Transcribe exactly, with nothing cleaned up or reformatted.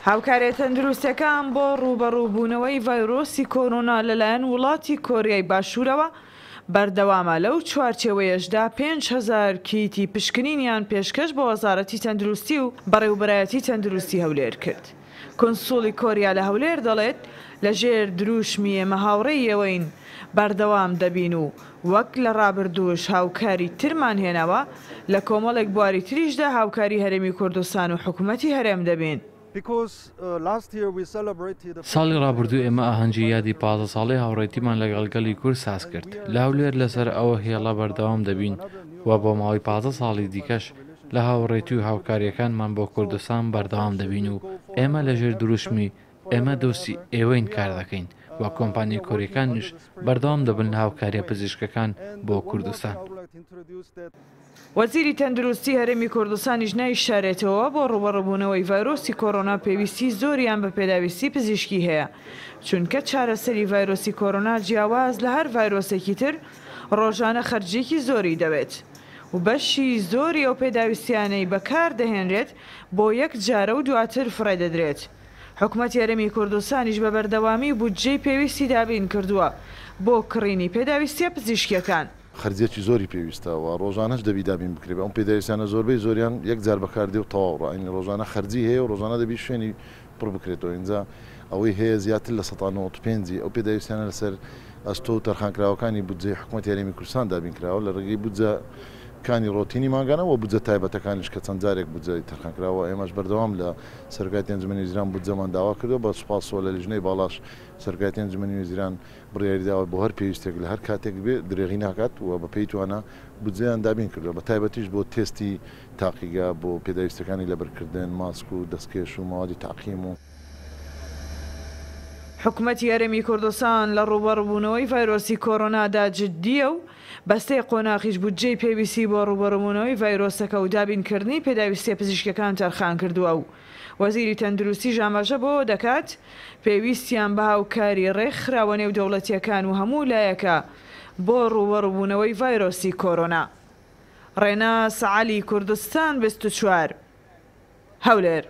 هاوکاریە تەندروستیەکان بۆ ڕووبەڕووبوونەوەی ڤایرۆسی کۆرۆنا لەلایەن وڵاتی کۆریای باشوورەوە بەردەوامە، لەو چوارچێوەیەشدا پێنج هەزار کیتی پشکنینیان پێشکەش بە وەزارەتی تەندروستی و بەڕێوبەرایەتی تەندروستی هەولێر کرد. کونسوڵی کۆریا لە هەولێر دەڵێت، لەژێر دروشمی ئێمە هاوڕێی ئێوەین بەردەوام دەبین و وەک لە ڕابردووش هاوکاری ترمان هێناوە، لە کۆمەڵێک بواری تریشدا هاوکاری هەرێمی کوردستان و حکومەتی هەرێم دەبین. ساڵی ڕابردوو ئێمە ئاهەنگی یادی پازدە ساڵەی هاوڕێتیمان لەگەڵ گەلی کورد ساز کرد. لە هەولێر لەسەر ئەوە هێڵە بەردەوام دەبین و بۆ ماوەی پازدە ساڵی دیکەش لە هاوڕێتی و هاوکارییەکانمان بۆ کوردستان بەردەوام دەبین و ئێمە لەژێر دروشمی ئێمە دۆستی ئێوەین کار دەکەین و کۆمپانیا کۆریەکانیش بەردەوام دەبن لە هاوکاریە پزیشکەکان بۆ کوردستان. وەزیری تەندروستی هەرێمی کوردستانیش نایشارێتەوە بۆ ڕووبەڕووبوونەوەی ڤایرۆسی کۆرۆنا پێویستی زۆریان بە پێداویستی پزیشکی هەیە، چونکە چارەسەری ڤایرۆسی کۆرۆنا جیاواز لە هەر ڤایرۆسێکی تر ڕۆژانە خەرجیەکی زۆری دەوێت و بەشی زۆری ئەو پێداویستیانەی بەکار دەهێنرێت بۆ یەک جارە و دواتر فڕێ دەدرێت. حکومەتی هەرێمی کوردستانیش بە بەردەوامی بودجەی پێویستی دابین کردووە بۆ کڕینی پێداویستیە پزیشکیەکان. خەرجیەکی زۆری پێویستە و ڕۆژانەش دەبی دابین بکرێت. ئەم پێداویستیانە زۆربەی زۆریان یەک جار بەکاردێ و تەواو ڕا، ڕۆژانە خەرجی هەیە و ڕۆژانە دەبی شوێنی پڕ بکرێتەوە. اینجا ئەوەی هەیە زیاتر لە سەدا نەوەد و پێنجی ئەو پێداویستیانە لەسەر ئەستۆ و تەرخانکراوەکانی بودجەی حکوومەتی هەرێمی کوردستان دابین کراوە لە ڕێگەی بودجەکانی ڕۆتینی مانگانە و بودجە تایبەتەکانیش کە چەند جارێک بودجەی تەرخانکراوە. ئێمەش بەردەوام لە سەرۆکایەتی ئەنجومەنی وەزیران بودجەمان داوا کردووە، بە سوپاسەوە لە لیژنەی باڵاش سەرۆکایەتی ئەنجومەنی وەزیران بڕیاری داوە بۆ هەر پێویستێک لە هەر کاتێک بێ درێغی ناکات و بە پێی توانا بودجەیان دابین کردووە، بە تایبەتیش بۆ تێستی تاقیگە، بۆ پێداویستەکانی لەبەرکردن، ماسک و دەستکێش و ماوەدی تاقیم و حکومەتی هەرێمی کوردستان لە ڕووبەڕووبوونەوەی ڤایرۆسی کۆرۆنادا جددیە و بەستەی قۆناغیش بودجەی پێویستی بۆ ڕووبەڕووبوونەوەی ڤایرۆسەکە و دابینکردنی پێداویستیە پزیشکەکان تەرخان کردووە و وەزیری تەندروستیش ئاماژە بۆ دەکات پێویستیان بە هاوکاری ڕێکخراوە نێودەوڵەتیەکان و هەموو لایەکە بۆ ڕووبەڕووبوونەوەی ڤایرۆسی کۆرۆنا. ڕێناس عەلی، کوردستان بیست و چوار، هەولێر.